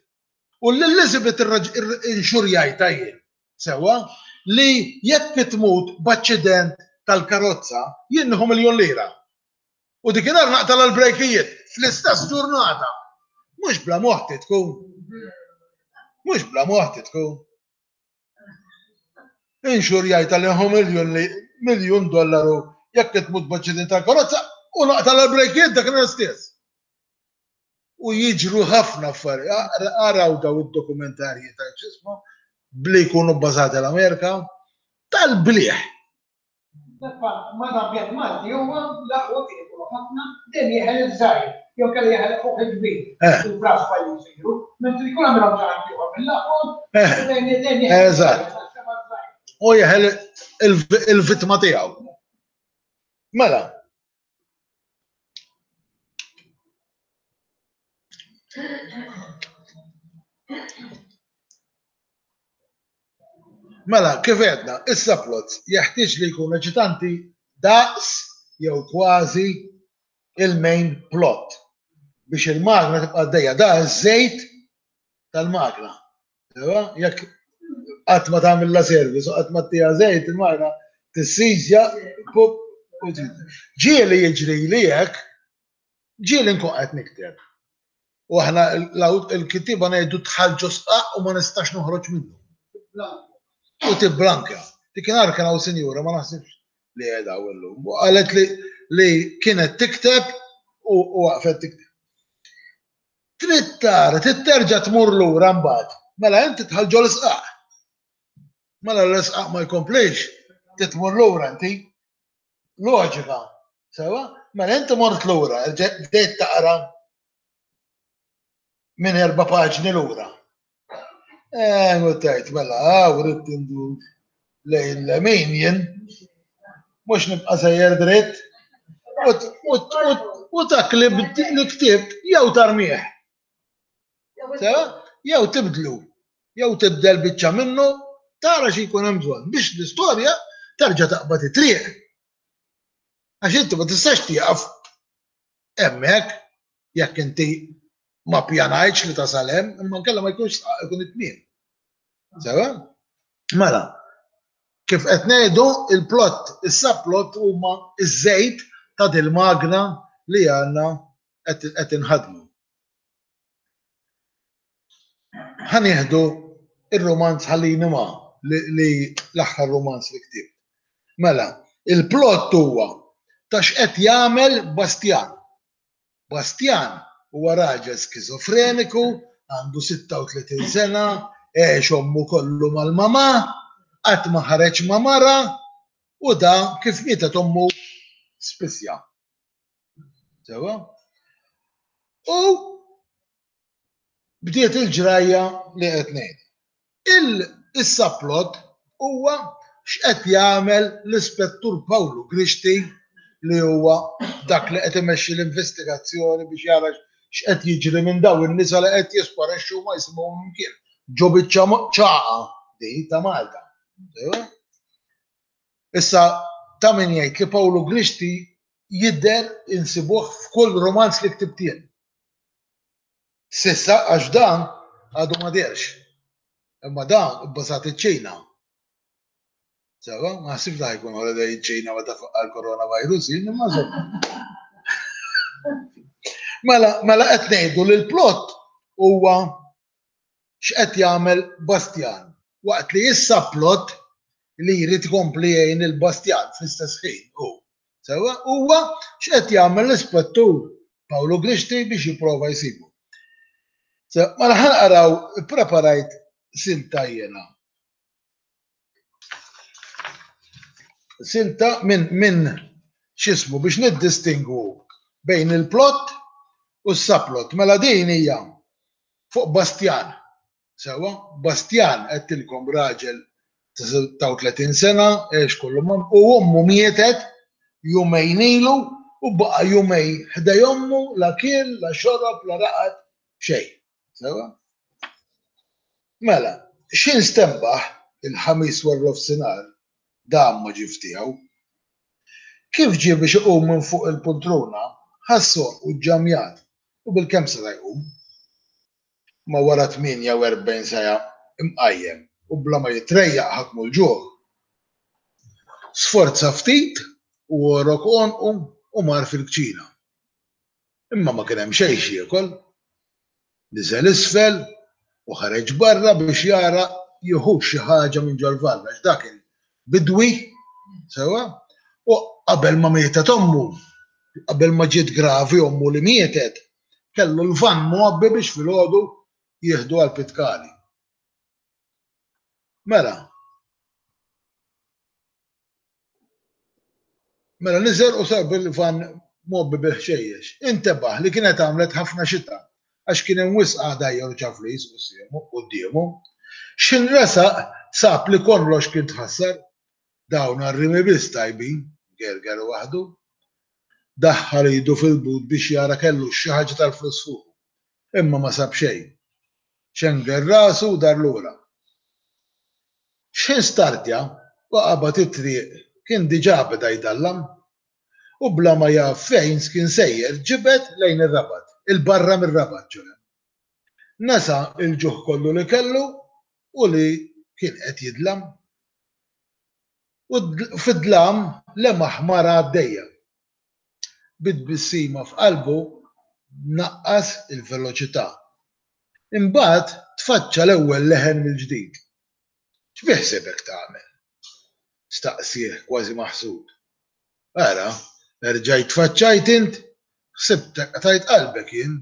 U l-Elizabeth inxurjajta jien. Sewa li jekk tmut b'aċċident tal-karozza jien nieħu miljun lira. U dikinhar naqta' l-brejkijiet fl-istess ġurnata. Mhux bla moħħ tkun. Mhux bla moħħ tkun. Inxurjajta li nieħu miljun miljun dollaru jekk tmut b'aċċident tal-karozza u naqta' l-brejkijiet dakinhar stess. U jiġru ħafna affarijiet. Araw daw id-dokumentarji ta' ġismu bli jkunu bbażati l-Amerika tal-bliħ. Mal-ambjent Malti huwa l-aqwa kien ikunu ħafna dejjem jeħel iż-żgħir jew kellu jeħel fuq il-kbir. Il-braspa li jsiru, mentri jkun għamilhom xi ħadd ieħor mill-aqwa. Eżatt. U jeħel il-vittma tiegħu. Mela. Mela, kif għedna, is-subplots jeħtieġ li jkunu eċitanti daqs jew kważi il-main plot biex il-magna tibqa' għaddejja. Da ż-żejt tal-magna. Jekk qatt ma tagħmilha service u qatt ma ttiha żejt, il-magna tissizja pup u ġieli jiġri li hekk, ġieli nkun qed nikteb. U aħna l-kittieba ngħidu dħal ġo sqaq u ma nistax noħroġ minnu. U tiblanka. Dikinhar kien hawn sinjura, ma naħsibx li qiegħda hawn illum. U qalet li li kienet tikteb u waqfet tikteb. Trid tara, trid terġa' tmur lura mbagħad. Mela inti tħall ġol isqaq. Mela l-isqaq ma jkomplix, trid tmur lura inti. Loġika. Sewa? Mela inti mort lura, bdejt taqra minn erba' paġni lura. Eh, u tajt, mela, għaw, rrid indur lejn l-lemin jien, mhux nibqa' sejjer dritt, u dak li ktibt jew tarmih. Jew tibdlu, jew tibdel biċċa minnu, tara xi jkun hemm bżonn biex l-istorja terġa' taqbad it-triq. Għax inti ma tistax tieqaf hemmhekk jekk inti ma pjanajtx li tasal hemm, imma nkella ma jkunx ikun it-tmiem. Sewa? Mela, kif qed ngħidu il-plot, is-subplot huma iż-żejt ta' dil-magna li għandna qed inħadmu. Ħa nieħdu ir-romanz Ħallini Ma li l-aħħar romanz li ktibt. Mela, il-plot huwa ta' x'qed jagħmel Bastian. Bastian huwa raġel skizofreniku, għandu sitta u tletin sena, għex ommu kollu mal-mama, qatt ma ħareġ ma' mara, u da kif mietet ommu spissja. Sewa? U bdiet il-ġrajja li qed ngħid. Il-subplot huwa x'qed jagħmel l-Ispettur Pawlu Grixti li huwa dak li qed imexxi l-investigazzjoni biex jara x'qed jiġri minn daw in-nisa li qed jisparixxu ma jisimgħu mkien. Ġo biċċa ċaqa di ta' Malta. Issa ta' min jgħid li Pawlu Grixti jidher insibuh f'kull romanz li ktibt jien. Sissa għax dan għadu ma dehrx. Imma dan ibbażat iċ-Ċina. Sewa, ma ħsibx li ħajkun holiday iċ-Ċina meta faqqa l-coronavirus, jien imma żomm. Mela, mela qed ngħidu li l-plot huwa x'qed jagħmel Bastian, waqt li issa plot li jrid ikompli jgħin il-Bastian fl-istess ħin hu. Sewa, huwa x'qed jagħmel l-Ispettur Pawlu Grixti biex jipprova jsibu. Mela ħa naqraw, ippreparajt silta jiena. Silta minn min x'ismu biex niddistingwu bejn il-plot u s-subplot. Mela din hija fuq Bastjan. Sewwa, Bastjan għedtilkom raġel ta' sitta u tletin sena, għex kollu ma' u ommu mietet jumejn ilu u baqa' jumej ħdej ommu la kiel, la xorob, la raqad, xejn. Sewwa? Mela, x'ħin stenbaħ il-Ħamis waranofsinhar, dam ma ġie f'tiegħu. Kif ġie biex iqum minn fuq il-pultruna, ħass għonqu ġġammjat u bilkemm seta' jqum. Imma wara tmienja u erbgħin siegħa imqajjem u bla ma jitrejjaq ħakmu l-ġuħ. Sforza ftit u għorok għonqu u mar fil-kċina. Imma ma kien hemm xejn x'jiekol. Niżel isfel u ħareġ barra biex jara jieħux xi ħaġa minn ġol-vann għax dak kien bidwi, sewwa, u qabel ma mietet ommu, qabel ma ġiet gravi ommu li mietet, kellu l-vann mgħobbi biex filgħodu jieħdu għall-pitkali. Mela. Mela niżel u sab il-vann mgħobbi bil-ħxejjex. Intebaħ li kienet għamlet ħafna xita għax kien hemm wisq għadajjar u ċaflis quddiemu. X'ħin resaq sab li kollox kien tħassar. Dawn għar-rimi biss tajbin, gerger waħdu. Daħħal idu fil-but biex jara kellux xi ħaġa tal-flus fuqu. Imma ma sab xejn. Xenger rasu u dar lura. X'ħin startja u qabad it-triq kien diġà beda jdallam. U bla ma jaf fejn kien sejjer ġibed lejn ir-Rabat, 'il barra mir-Rabat ċoe. Nesa l-ġuħ kollu li kellu u li kien qed jidlam. U fid-dlam lemaħ mara għaddejja. Bi tbissima f'qalbu naqqas il-veloċità. Imbagħad tfaċċa l-ewwel leħen mill-ġdid. X'biħsiebek tagħmel? staqsieh kważi maħsud. Ara, erġajt tfaċċajt int? Ħsibtek qtajt qalbek jien.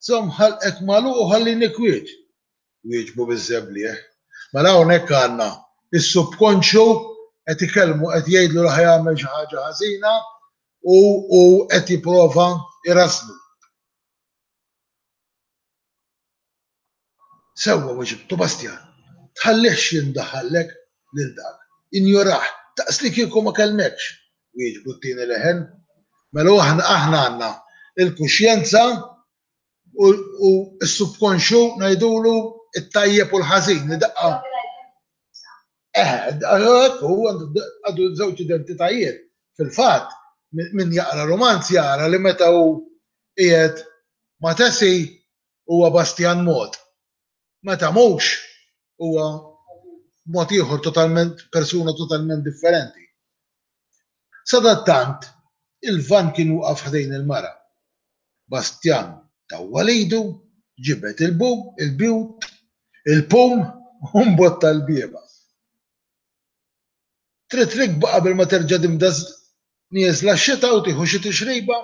Żomm ħalqek magħluq u ħallini kwiet! wieġbu biż-żebliegħ. Mela hawnhekk għandna s-subkonxju qed ikellmu, qed jgħidlu li ħa jagħmel xi ħaġa ħażina u hu qed jipprova jrażżnu. Sewwa weġibtu Bastjan. Tħallihx jindaħallek lil dak. Injorah, daqslikieku ma kellmekx, wieġbu t-tieni leħen. Mela aħna aħna għandna l-kuxjenza u s-subkonxju ngħidulu t-tajjeb u l-ħażin li daqqa. Eħe, hekk hu għandu żewġ identitajiet. Fil-fatt, min jaqra rumanz jara li meta hu qiegħed ma' Tessie huwa Bastian mod. Meta mhux huwa mod ieħor totalment, persuna totalment differenti. Sadattant, il-vann kien waqaf ħdejn il-mara. Bastian tawwal idu, ġibed il-bub, il-but, il-pum u mbotta l-bieba. Trid rikba qabel ma terġa' tibda nieżla x-xita u tieħu xi tixriba?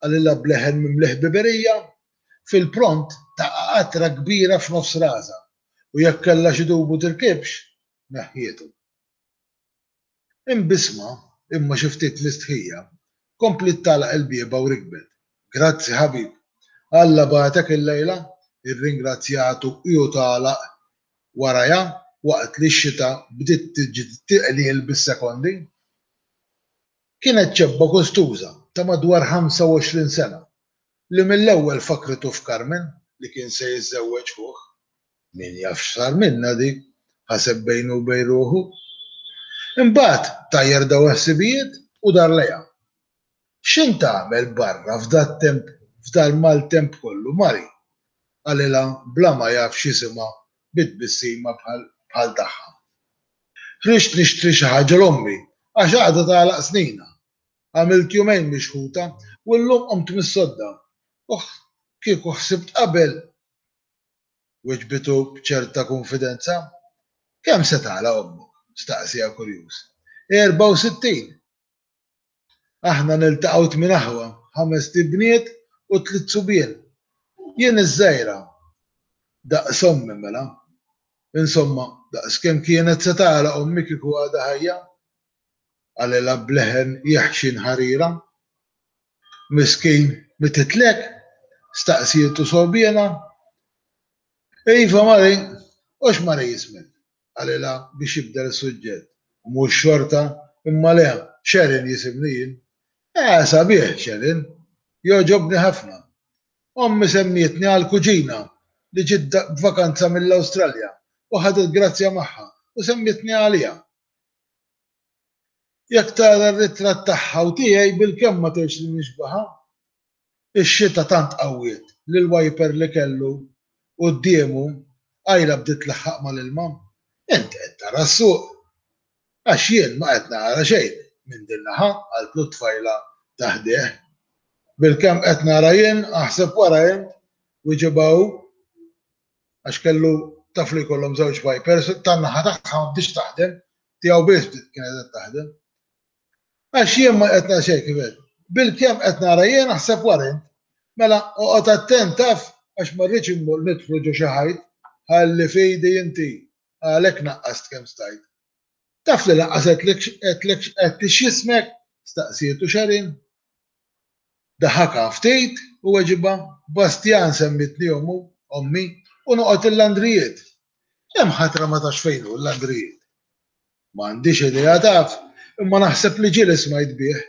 qalilha b'leħen mimli ħbiberija. Fil-pront taqa' qatra kbira f'nofs rasha u jekk kellha xi dubu tirkibx, neħħietu. Imbissma, imma xi ftit mistħija, kompliet tagħlaq il-bieba u rikbet. Grazzi ħabib. Alla bagħtek illejla, irringrazzjatu hi u tagħlaq warajha waqt li x-xita bdiet tiqliel bis-sekondi. Kienet ċebba gustuża ta' madwar ħamsa u għoxrin sena li mill-ewwel fakkritu f'Carmen li kien se jiżżewweġ ħuh. Min jaf x'sar minnha dik, ħaseb bejnu u bejn ruħu. Imbagħad tajjar dawn il-ħsibijiet u dar lejha. X'int tagħmel barra f'dat-temp f'dal-maltemp kollu, Mari? qalilha bla ma jaf x'isimha bi tbissima bħal bħal tagħha. Ħriġt nixtri xi ħaġa 'l ommi għax għada tagħlaq sninha. Għamilt jumejn mixħuta u llum qomt mis-sodda. Ohh, kieku ħsibt qabel! Weġbitu b'ċerta kunfidenza. Kemm se tagħlaq ommok? staqsieha kurjuż. Erbgħa u sittin! Aħna niltaqgħu tmien aħwa, ħamest ibniet u tliet subien. Jien iż-żgħira. Daqs ommi mela. Insomma, daqs kemm kienet se tagħlaq ommi kieku għadha ħajja. Qalilha b'leħen jeħxien ħarira. Miskin, mititlek? Staqsietu sogħbiena. Iva, Mari, u x'Mari jismek? Qalilha biex jibdel is-suġġett. U mhux xorta, imma le, Sharon jisimni jien. Eh, sabiħ, Sharon. Jogħġobni ħafna. Ommi semmietni għal kuġina li ġiet b'vakanza mill-Awstralja u ħadet grazzja magħha u semmietni għaliha. Jekk tara r-ritratt tagħha u tiegħi bilkemm ma tgħidx li nixbaha. Ix-xita tant qawwiet li l-wiper li kellu quddiemu qajla bdiet tlaħħaq mal-ilma. Int qed tara s-suq? Għax jien ma qed nara xejn minn din naħa, qaltlu t-tfajla ta' ħdejh. Bilkemm qed nara jien, aħseb wara int, wiġibha hu. Għax kellu taf li jkollhom żewġ wipers, tan-naħa tagħha ma bdietx taħdem, tiegħu biss bdiet kienet qed taħdem. Għax jien ma qed nara xejn kif qed. Bilkemm qed nara jien, aħseb wara int. Mela, oqgħod attent taf għax ma rridx immur nidħlu ġo xi ħajt, ħalli f'idi inti, għalhekk naqqast kemm stajt. Taf li lanqas għedtlek għedtlek għedtli x'jismek? staqsietu Sharon. Daħakha ftit u weġibha, Bastjan semmietni ommu, ommi, u noqgħod il-Landrijiet. Hemm ħatra ma tafx fejn hu l-Landrijiet. M'għandix idea taf, imma naħseb li ġieli smajt bih.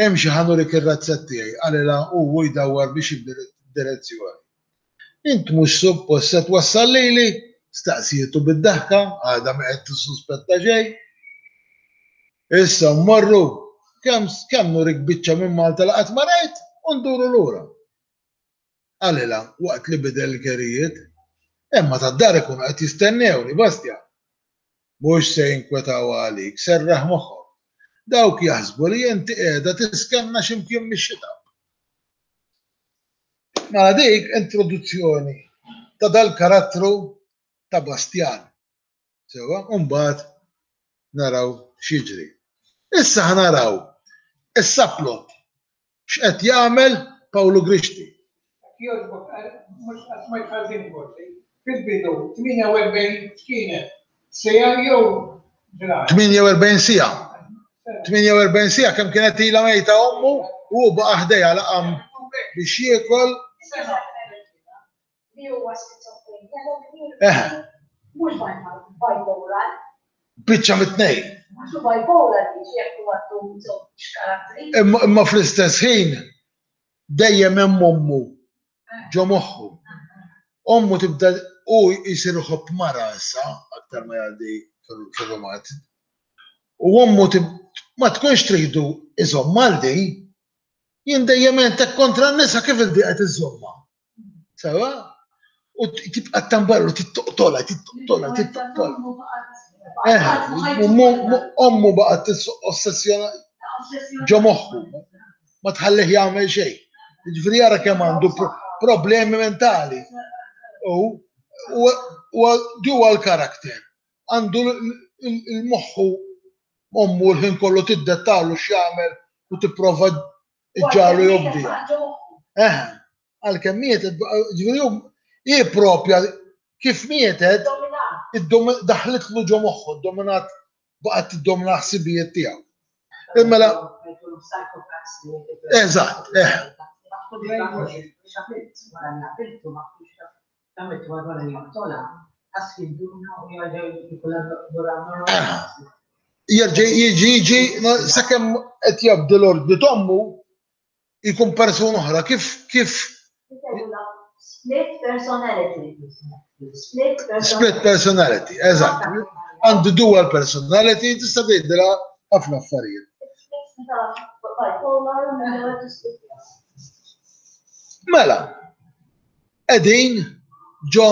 Imxi ħa nurik ir-razzett tiegħi, qalilha hu u jdawwar biex jibdel id-direzzjoni. Int mhux suppost se twassal lili? staqsietu bid-daħka, għadha ma qed tissuspetta xejn. Issa mmorru, kemm kemm nurik biċċa minn Malta li qatt ma rajt u nduru lura. Qalilha waqt li bidel il-kerijiet. Imma tad-dar ikunu qed jistennewni, Bastian. Mhux se jinkwetaw għalik, serraħ moħħok. Dawk jaħsbu li inti qiegħda tiskenna xi mkien mix-xita. Mela dik introduzzjoni ta' dal-karattru ta' Bastian. Sewwa, u mbagħad naraw x'jiġri. Issa ħa naraw is-subplot x'qed jagħmel Pawlu Grixti. Jekk jogħġbok, mhux qatt smajt ħażin forsi, fil-bidu tmienja u erbgħin x'kienet? Siegħa jew ġranet? Tmienja u erbgħin siegħa. Tmienja u erbgħin siegħa kemm kienet ilha mejta ommu u hu baqa' ħdejha la qam biex jiekol. Li huwa skizofrenja Eħe. Mhux bipolar. Biċċa mit-tnejn. Mhux bipolar jiġi jekk huwa għandu żewġ karattri. Imma imma fl-istess ħin dejjem hemm ommu ġo moħħu. Ommu tibda u jsir iħobb mara issa aktar ma jgħaddi fir-rumanz. U ommu ma tkunx tridu iżomm għal di. Jien dejjem għentek kontra n-nisa kif il-di qed iżżommha. Sewa? U tibqa' tambarlu, tittoqtolha, tittoqtolha, tittoqtolha. Eh, ommu baqgħet ossessjona ġo moħħu. Ma tħallih jagħmel xejn. Jiġifieri jara kemm għandu problemi mentali. U dual character. Għandu l-moħħu ommu l-ħin kollu tiddettalu x'jagħmel u tipprova ġġagħlu jobdiha. Eh, għalkemm mietet, ġifieri hi propja kif mietet, daħlitlu ġo moħħu, dominat baqgħet tiddomina ħsibijiet tiegħu. Mela. Eżatt, eh. Jerġa' jiġi jiġi sakemm qed jabdi l-ordni t'ommu jkun persuna oħra kif kif Split personality. Split personality. Split personality, eżatt. Għandu dual personality, tista' tgħidilha ħafna affarijiet. Mela, qegħdin ġo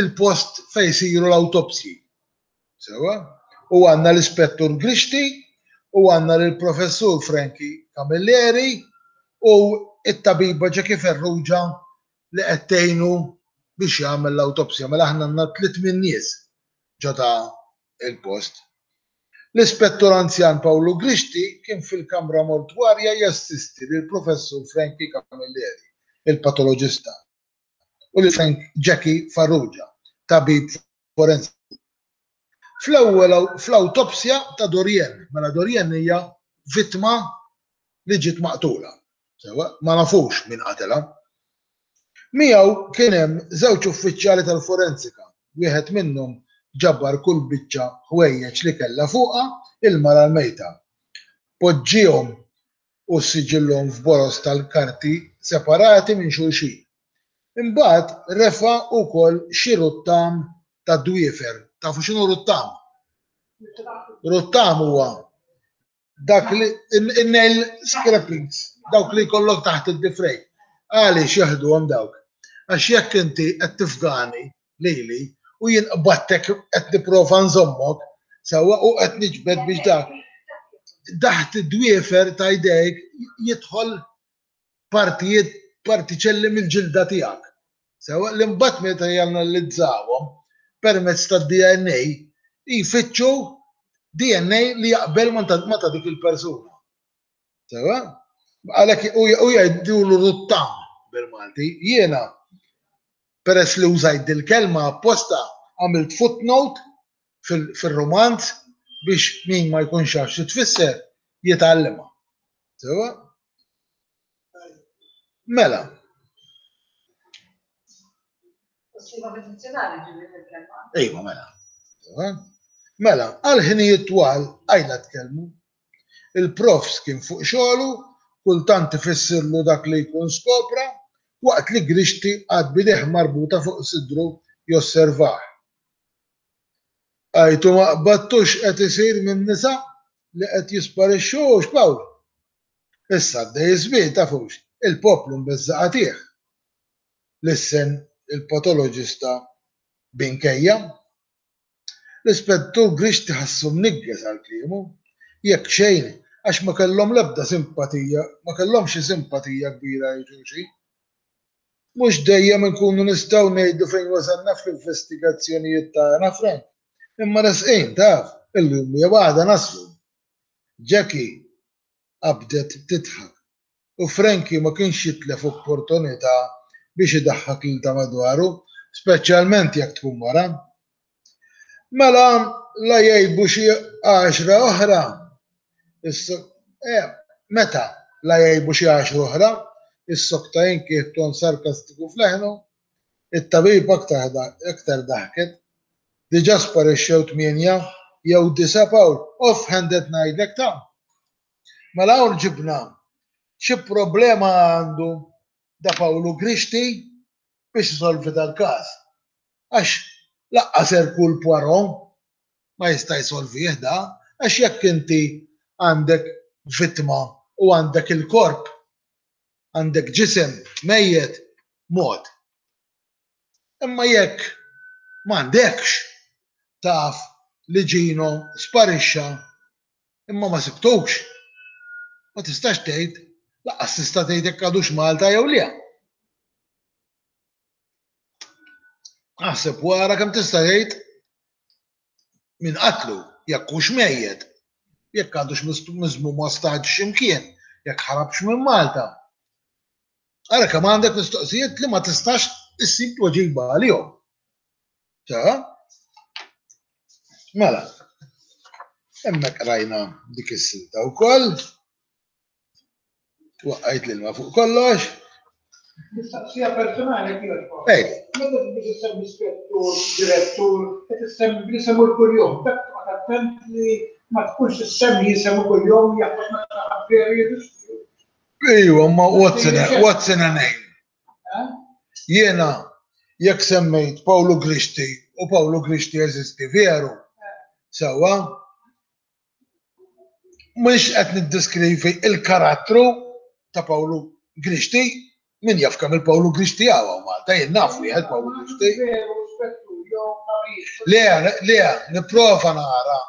il-post fejn isiru l-awtopsji. Sewwa? U għandna l-Ispettur Grixti u għandna lill-Professur Frankie Camilleri u t-tabiba Jackie Farrugia li qed tgħinu biex jagħmel l-awtopsja. Mela aħna għandna tliet min-nies ġo ta' il-post. L-Ispettur Anzjan Pawlu Grixti kien fil-kamra mortwarja jassisti lill-Professur Frankie Camilleri, il-patoloġista, u lil Frank Jackie Farrugia, tabib forensiku. Fl-ewwel fl-awtopsja ta' Dorienne, mela Dorienne hija vittma li ġiet maqtula. Sewwa, ma nafux min qatelha. Miegħu kien hemm żewġ uffiċjali tal-forensika, wieħed minnhom ġabar kull biċċa ħwejjeġ li kellha fuqha il-mara l-mejta. Poġġiehom u ssiġillhom f'boroż tal-karti separati minn xulxin. Imbagħad refa' wkoll xi ruttam tad-dwiefer. Tafu x'inhu ruttam? Ruttam huwa dak li in-nail scrapings, dawk li jkollok taħt id-difrejn. Għaliex jaħduhom dawk? Għax jekk inti qed tifgani lili u jien qbadtek qed nipprova nżommok sewwa u qed niġbed biex dak taħt id-dwiefer ta' jdejk jidħol partijiet partiċelli mill-ġilda tiegħek. Sewwa li mbagħad meta janalizzawhom permezz tad-D N A jfittxu D N A li jaqbel ma ta' dik il-persuna. Sewwa? Għalhekk u jgħidulu ruttam bil-Malti. Jiena peress li użajt dil-kelma apposta għamilt footnote fil-romanz biex min ma jkunx jaf xi tfisser jitgħallimha. Sewwa? Mela. Ejwa, mela. Mela, għal ħinijiet twal għajla tkellmu. Il-profs kien fuq xogħlu, kultant ifissirlu dak li jkun skopra, waqt li Grixti għad b'idejh marbuta fuq sidru josservah. Għajtu ma qbadtux qed isir minn nisa li qed jisparixxu hux, Pawl? Issa għaddej iż-żmien tafux, il-poplu mbeżża' qatih. Lissen il-patoloġista b'inkejja. L-Ispettur Grixti ħassu mniggeż għal kliemu, jekk xejn għax ma kellhom l-ebda simpatija, ma kellhomx xi simpatija kbira għal xulxin. Mhux dejjem inkunu nistgħu ngħidu fejn wasalna fl-investigazzjonijiet tagħna, Frank, imma resqin, taf, illum jew għada naslu. Jackie qabdet tidħak u Frankie ma kienx jitlef opportunità biex idaħħak lil ta' madwaru, speċjalment jekk tkun mara. Mela la jgħibu xi għaxra oħra. Eh, meta la jgħibu xi għaxra oħra, issokta jinki ton sarkastiku f'leħnu, it-tabib aktar aktar daħket. Diġà sparixxew tmienja jew disa' Pawl, off-handed ngħidlek ta'. Mela hawn ġibna xi problema għandu da Pawlu Grixti biex isolvi dal-każ. Għax laqqas Hercule Poirot ma jista' jsolvih da, għax jekk inti għandek vittma u għandek il-korp, għandek ġisem mejjet mod. Imma jekk m'għandekx taf li Gino sparixxa imma ma sibtux, ma tistax tgħid, laqqas tista' tgħid jekk għadux Malta jew le. Aħseb wara kemm tista' tgħid min qatlu, jekk hux mejjet, jekk għadux miżmum ostaġġ x'imkien, jekk ħarabx minn Malta. Ara kemm għandek mistoqsijiet li ma tistax issib tweġiba għalihom. Ta? Mela, hemmhekk rajna dik is-silta wkoll. Waqqajt l-ilma fuq kollox. Mistoqsija personali kienet. Ej. Meta biex issemmi spettur, direttur, qed issemmi bl-isem kuljum, dak toqgħod attent li ma tkunx issemmi jisemu kuljum jaħseb ma xi veru jeżisti. Ejwa, ma what's in a, what's in a name? Jiena jekk semmejt Pawlu Grixti u Pawlu Grixti jeżisti veru, sewwa, mhux qed niddeskrivi il-karattru ta' Pawlu Grixti, min jaf kemm il-Pawlu Grixti hawn Malta, jien naf wieħed Pawlu Grixti. Veru, spettur, jew tabib. Le, le, nipprova nara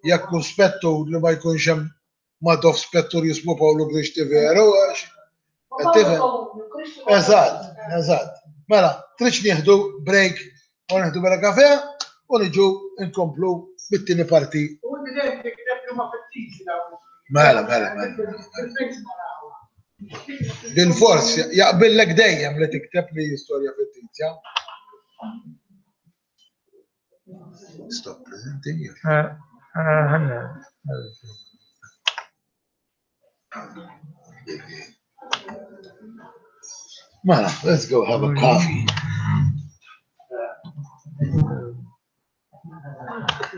jekk hu spettur li ma jkunx hemm Madoff spettur jismu Pawlu Grixti veru, għax qed tifhem? Eżatt, eżatt. Mela, tridx nieħdu break u nieħdu bella kafe u niġu nkomplu bit-tieni parti. U inti dejjem tikteb huma fittizji dawn. Mela, mela, mela. Fil-fejs narawha. Bil-fors, jaqbillek dejjem li tikteb li storja fittizja. Stop presenting. Ah, ah, ħanna. Mela, let's go have a coffee.